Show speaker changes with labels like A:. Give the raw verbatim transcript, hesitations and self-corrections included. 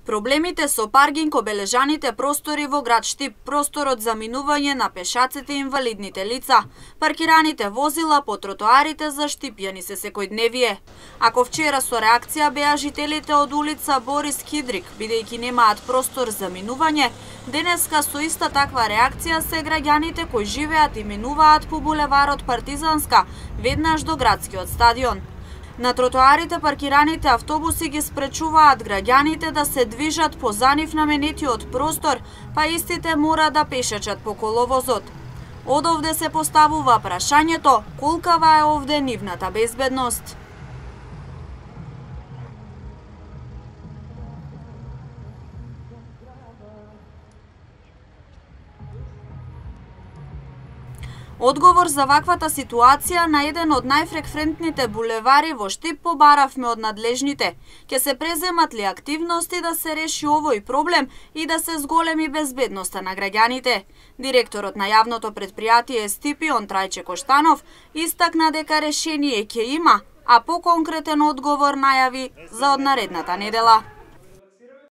A: Проблемите со паркинг обележаните простори во град Штип, просторот за минување на пешаците и инвалидните лица, паркираните возила по тротоарите за штипјани се секојдневие. Ако вчера со реакција беа жителите од улица Борис Кидрик, бидејќи немаат простор за минување, денеска со иста таква реакција се граѓаните кои живеат и минуваат по булеварот Партизанска, веднаш до градскиот стадион. На тротоарите паркираните автобуси ги спречуваат граѓаните да се движат по за нив наменетиот простор, па истите мора да пешачат по коловозот. Од овде се поставува прашањето колкава е овде нивната безбедност. Одговор за ваквата ситуација на еден од најфреквентните булевари во Штип побаравме од надлежните. Ке се преземат ли активности да се реши овој проблем и да се зголеми безбедноста на граѓаните? Директорот на јавното претпријатие Стипион Трајче Коштанов истакна дека решение ќе има, а поконкретен одговор најави за од наредната недела.